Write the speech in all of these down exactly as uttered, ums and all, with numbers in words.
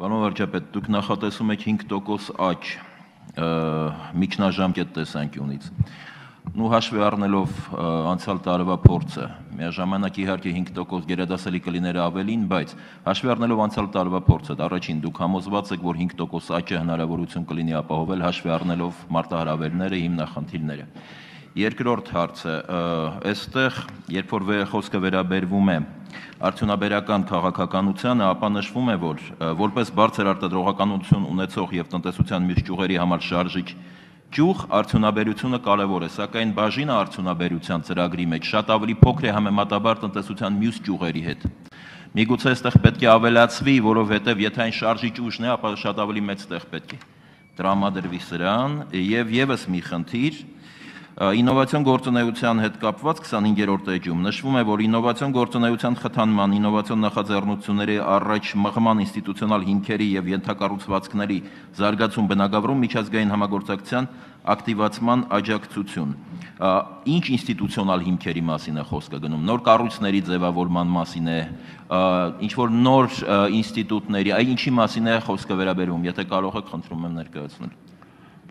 Պարոն վարչապետ, դուք նախատեսում եք հինգ տոկոս աճ միջնաժամկետ տեսանկյունից։ Նու հաշվի առնելով անցյալ տարվա փորձը, միաժամանակ իհարկե հինգ տոկոս գերադասելի կլիներ ավելին, բայց հաշվի առնելով անցյալ տարվա փորձը, առաջին դուք համոզված եք, որ հինգ տոկոս աճը հնարավորություն կլինի ապահովել հաշվի առնելով մարտահրավերները, հիմնախնդիրները։ Երկրորդ հարցը, այստեղ, երբ որ խոսքը վերաբերվում է արդյունաբերական քաղաքականությանը, ապա նշվում է, որ որպես բարձր արտադրողականություն ունեցող եւ տնտեսության մյուս ճյուղերի համար շարժիչ ճյուղ արդյունաբերությունը կարևոր է, սակայն բաժինը արդյունաբերության ծրագրի մեջ շատ ավելի փոքր է համեմատաբար տնտեսության մյուս ճյուղերի հետ։ Միգուցե այստեղ պետք է ավելացվի, որովհետեւ եթե այն շարժիչ ուժն է, ապա շատ ավելի մեծ տեղ պետք է տրամադրվի սրան եւ եւս մի խնդիր Ինովացիոն գործունեության հետ կապված քսանհինգերորդ էջում նշվում է, որ ինովացիոն գործունեության խթանման, ինովացիոն նախաձեռնությունների առաջ մղման ինստիտուցիոնալ հիմքերի եւ ենթակառուցվածքների զարգացում բնագավառում միջազգային համագործակցության ակտիվացման աջակցություն։ Ինչ ինստիտուցիոնալ հիմքերի մասին է խոսքը գնում, նոր կառույցների ձևավորման մասին է, ինչ որ նոր ինստիտուտների, այ ինչի մասին է խոսքը վերաբերում, եթե կարող եք, խնդրում եմ ներկայացնել։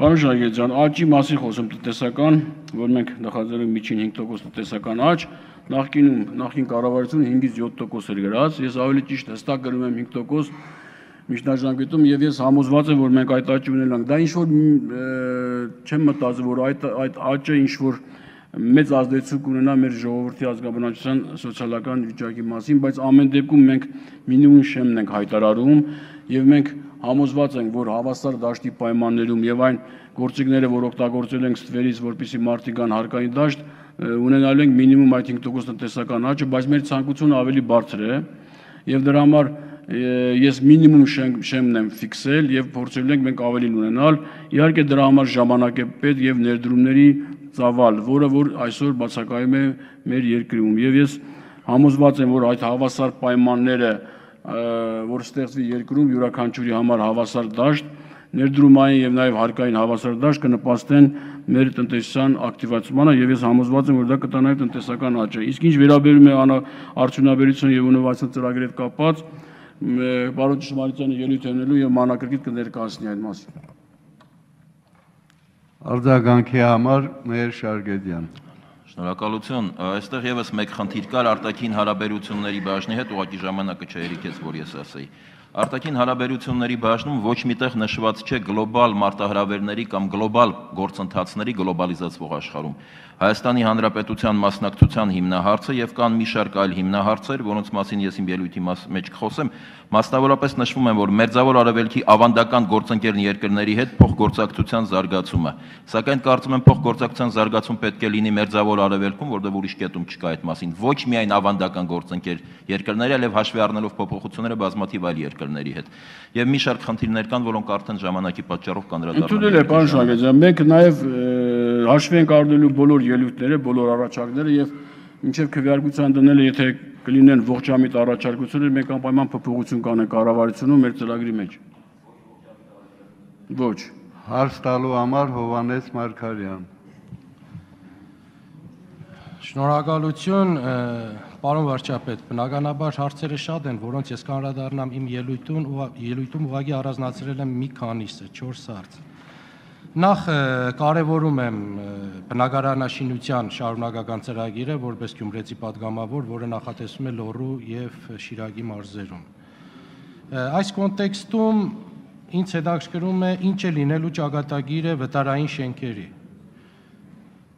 Պարոն Շարգետյան, աճի մասին խոսում տնտեսական, որ մենք նախաձեռնում միջին հինգ տոկոս տնտեսական աճ, նախկինում նախկին կառավարությունը հինգից յոթ տոկոս էր գրած, ես ավելի ճիշտ հստակ գրում եմ հինգ տոկոս միջնաժամկետում եւ ես համոզված եմ, որ մենք այդ աճը ունենանք։ Դա ինչ որ չեմ մտածում, որ այդ այդ աճը ինչ որ մեծ ազդեցություն կունենա մեր ժողովրդի ազգաբնակչության սոցիալական վիճակի մասին, բայց ամեն դեպքում մենք մինիմում շեմն ենք հայտարարում եւ մենք համոզված ենք, որ հավասար դաշտի պայմաններում եւ այն գործիքները, որ օգտագործել ենք ստվերից, որպեսզի մարդիկ գան հարկային դաշտ, ունենալու ենք մինիմում այդ հինգ տոկոս տնտեսական աճը, բայց մեր ցանկությունը ավելի բարձր է եւ դրա համար ես մինիմում շեմն եմ ֆիքսել եւ փորձել ենք մենք ավելին ունենալ։ Իհարկե դրա համար ժամանակ է պետք եւ ներդրումների ծավալ, որը որ այսօր բացակայում է մեր երկրում եւ ես համոզված եմ, որ այդ հավասար պայմանները որ ստեղծվի երկրում յուրաքանչյուրի համար հավասար դաշտ, ներդրումային եւ նաեւ հարկային հավասար դաշտ կնպաստեն մեր տնտեսության ակտիվացմանը եւ ես համոզված եմ, որ դա կտա նաեւ տնտեսական աճը։ Իսկ ինչ վերաբերում է արդյունաբերություն եւ ինովացիոն ծրագրի հետ կապված, պարոն Ճշմարիտյանը ելույթ ունենալու եւ մանրակրկիտ կներկայացնի այդ մասին։ Արձագանքի համար Մհեր Շարգետյան։ Շնորհակալություն, այստեղ եւս մեկ խնդիր կար արտաքին հարաբերությունների բաժնի հետ, ուղղակի ժամանակը չհերիքեց, որ ես ասեի։ Արտաքին հարաբերությունների բաժնում ոչ միտեղ նշված չէ գլոբալ մարտահրավերների կամ գլոբալ գործընթացների գլոբալիզացվող աշխարհում։ Հայաստանի Հանրապետության մասնակցության հիմնահարցը եւ կան մի շարք այլ հիմնահարցեր, որոնց մասին ես իմ ելույթի մեջ կխոսեմ, մասնավորապես նշվում է, որ Մերձավոր Արևելքի ավանդական գործընկեր երկրների հետ փոխգործակցության զարգացումը, սակայն կարծում եմ փոխգործակցության զարգացում պետք է լինի Մերձավոր Արևելքում, որտեղ ուրիշ կետում չկա այդ մասին, ոչ միայն ավանդական գործընկեր երկրների, այլև հաշվի առնելով փոփոխությունները բազմաթիվ այլ երկրների հետ։ Եվ մի շարք խնդիրներ կան, որոնք արդեն ժամանակի պատճառով կանդրադառնան։ Ընդունել է, պարոն Շարգետյան, մենք նաեւ հաշվի ենք առնելու բոլոր ելույթները, բոլոր առաջարկները եւ մինչեւ քվեարկության դնելը, եթե կլինեն ողջամիտ առաջարկություններ, մենք անպայման փոփոխություն կանենք կառավարությունում մեր ծրագրի մեջ։ Ոչ։ Հարց տալու համար Հովհաննես Մարգարյան։ Շնորհակալություն, պարոն վարչապետ, բնականաբար հարցերը շատ են, որոնց ես կանդրադառնամ իմ ելույթում, ելույթում ուղղակի առանձնացրել եմ մի քանիսը, չորս հարց։ Նախ կարևորում եմ բնակարանաշինության շարունակական ծրագիրը որպես գյումրեցի պատգամավոր, որը նախատեսվում է Լոռու եւ Շիրակի մարզերում։ Այս կոնտեքստում ինձ հետաքրքրում է ինչ է լինելու ճակատագիրը վտարային շենքերի։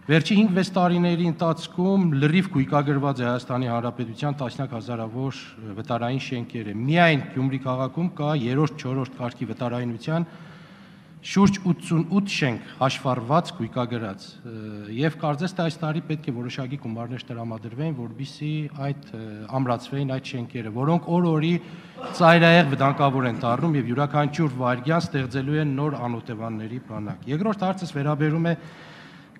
Վերջի հինգ-վեց տարիների ընթացքում լրիվ գույքագրված է Հայաստանի Հանրապետության տասնյակ հազարավոր վտարային շենքերը։ Միայն Գյումրի քաղաքում կա երրորդ-չորրորդ կարգի վտարայնության շուրջ ութսունութ շենք հաշվառված գույքագրած եւ կարծես թե այս տարի պետք է որոշակի գումարներ տրամադրվեն, որբիսի այդ ամրացվեին այդ շենքերը, որոնք օր-օրի ծայրահեղ վտանգավոր են դառնում եւ յուրաքանչյուր վայրկյան ստեղծելու են նոր անօթևանների բանակ։ Երկրորդ հարցս վերաբերում է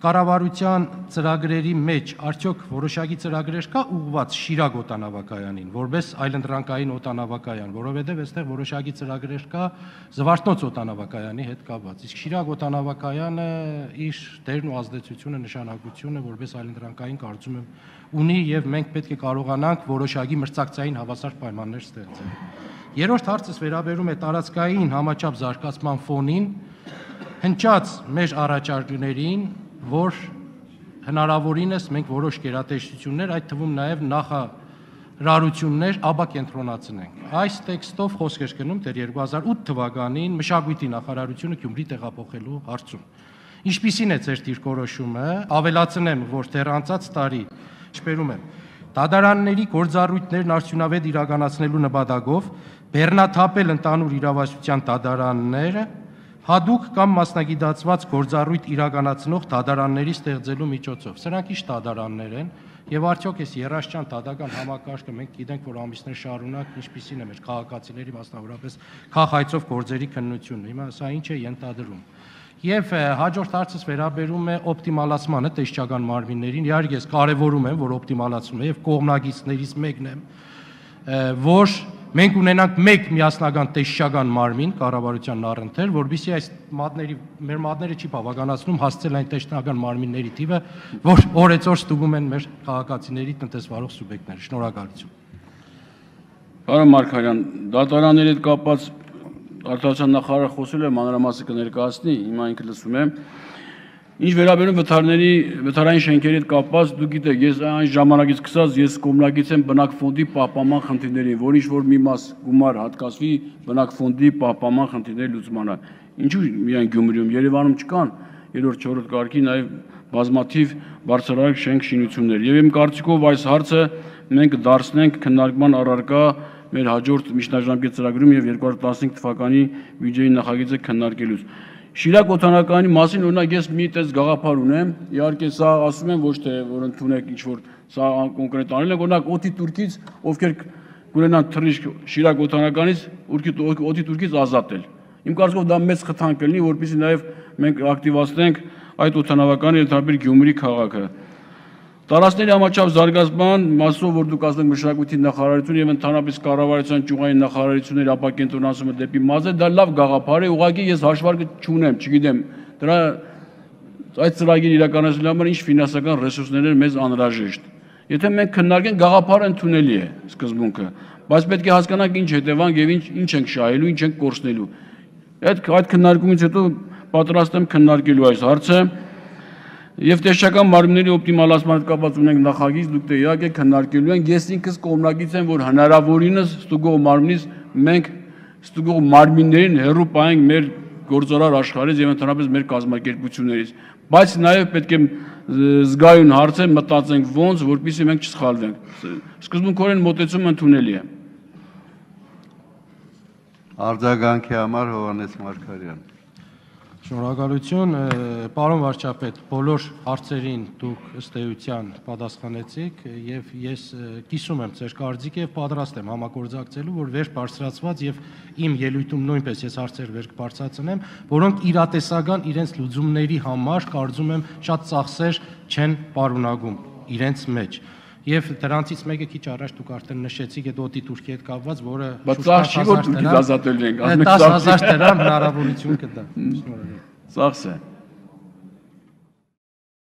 կառավարության ծրագրերի մեջ արդյոք որոշակի ծրագրեր կա ուղղված Շիրակ օդանավակայանին, որպես այլընտրանքային օդանավակայան, որովհետև այստեղ որոշակի ծրագրեր կա Զվարթնոց օդանավակայանի հետ կապված։ Իսկ Շիրակ օդանավակայանը իր դերն ու ազդեցությունը, նշանակությունը որպես այլընտրանքային կարծում եմ ունի եւ մենք պետք է կարողանանք որոշակի մրցակցային հավասար պայմաններ ստեղծել։ Երրորդ հարցս վերաբերում է տարածքային համաչափ զարգացման ֆոնին, հնչած մեր առաջարկներին, որ հնարավորինս մենք որոշ գերատեսչություններ, այդ թվում նաև նախարարություններ ապակենտրոնացնենք։ Այս տեքստով խոսք էր գնում դեռ երկու հազար ութ թվականին մշակույթի նախարարությունը Գյումրի տեղափոխելու հարցում։ Ինչպիսին է ձեր դիրքորոշումը, ավելացնեմ, որ դեռ անցած տարի, շպերում եմ, դատարանների գործառույթներն արդյունավետ իրականացնելու նպատակով բեռնաթափել ընդհանուր իրավասության դատարանները հատուկ կամ մասնագիտացված գործառույթ իրականացնող դատարանների ստեղծելու միջոցով։ Սրանք ի՞նչ դատարաններ են եւ արդյոք այս երաշտյան դատական համակարգը մենք գիտենք, որ ամիսներ շարունակ ինչպիսին է մեր քաղաքացիների, մասնավորապես քաղաքայցով գործերի քննությունը։ Հիմա սա ինչ է ենթադրում։ Եվ հաջորդ հարցս վերաբերում է օպտիմալացմանը տեսչական մարմիններին։ Իհարկե ես կարևորում եմ, որ օպտիմալացումը եւ կողմնակիցներից մեկն եմ, որ մենք ունենանք մեկ միասնական տեսչական մարմին կառավարության առընթեր, որովհետեւ այս մատների մեր մատները չի բավականացնում հասցնել այն տեսչական մարմինների թիվը, որ օրեցօր ստուգում են մեր քաղաքացիների տնտեսվարող սուբյեկտները։ Շնորհակալություն։ Պարոն Մարգարյան, դատարանների հետ կապված արտադրության նախարարը խոսել է, մանրամասը կներկայացնի, հիմա ինքը լսում եմ։ Ինչ վերաբերում վթարների, վթարային շենքերի հետ կապված, դուք գիտեք, ես այն ժամանակից սկսած ես կողմնակից եմ բնակֆոնդի պահպանման խնդիրներին, որ ինչ որ մի մաս գումար հատկացվի բնակֆոնդի պահպանման խնդիրների լուծմանը։ Ինչու միայն Գյումրիում, Երևանում չկան երրորդ, չորրորդ կարգի նաև բազմաթիվ բարձրարարակ շենք շինություններ։ Եվ իմ կարծիքով այս հարցը մենք դարձնենք քննարկման առարկա մեր հաջորդ միջնաժամկետ ծրագրում եւ երկու հազար տասնհինգ թվականի բյուջեի նախագիծը քննարկելուց։ Շիրակ օդանականի մասին օրինակ ես մի տես գաղափար ունեմ, իհարկե սա ասում եմ ոչ թե որ ընդունեք ինչ որ սա կոնկրետ անել ենք, օրինակ օդի турքից ովքեր կունենան թռիչք Շիրակ օդանականից օդի турքից ազատել։ Իմ կարծիքով դա մեծ խթան կլինի, որպեսզի նաեւ մենք ակտիվացնենք այդ օդանավականի ընդհանուր Գյումրի քաղաքը։ Տարածքների համաչափ զարգացման մասով, որ դուք ասում եք մշակույթի նախարարություն եւ ընդհանրապես կառավարության ճյուղային նախարարությունների ապակենտրոնացումը դեպի մարզեր, դա լավ գաղափար է, ուղղակի ես հաշվարկը չունեմ, չգիտեմ, դրա այդ ծրագիրը իրականացնելու համար ինչ ֆինանսական ռեսուրսներ են մեզ անհրաժեշտ։ Եթե մենք քննարկենք, գաղափարը ընդունելի է սկզբունքը, բայց պետք է հասկանանք ինչ հետևանք եւ ինչ ինչ ենք շահելու, ինչ ենք կորցնելու։ Այդ այդ քննարկումից հետո պատրաստ եմ քննարկելու այս հարցը։ Եվ տեսչական մարմինների օպտիմալացման հետ կապված ունենք նախագիծ, դուք տեղյակ եք քննարկելու ենք, ես ինքս կողմնակից եմ, որ հնարավորինս ստուգող մարմնից մենք ստուգող մարմիններին հեռու պահենք մեր գործարար աշխարհից եւ ընդհանրապես մեր կազմակերպություններից, բայց նաեւ պետք է զգայուն հարց է մտածենք ոնց, որպեսզի մենք չսխալվենք։ Սկզբունքորեն մոտեցումը ընդունելի է։ Արձագանքի համար Հովհաննես Մարգարյան։ Շնորհակալություն, պարոն վարչապետ, բոլոր հարցերին դուք ըստ էության պատասխանեցիք եւ ես կիսում եմ ձեր կարծիքը եւ պատրաստ եմ համագործակցելու, որ վեր բարձրացված եւ իմ ելույթում նույնպես ես հարցեր վեր կբարձրացնեմ, որոնք իրատեսական իրենց լուծումների համար կարծում եմ շատ ծախսեր չեն պարունակում իրենց մեջ։ Եվ դրանցից մեկը քիչ առաջ դուք արդեն նշեցիք այդ օդի турքի հետ կապված, որը դասի հազար դրամ հնարավորություն կտա։ Ծախս է։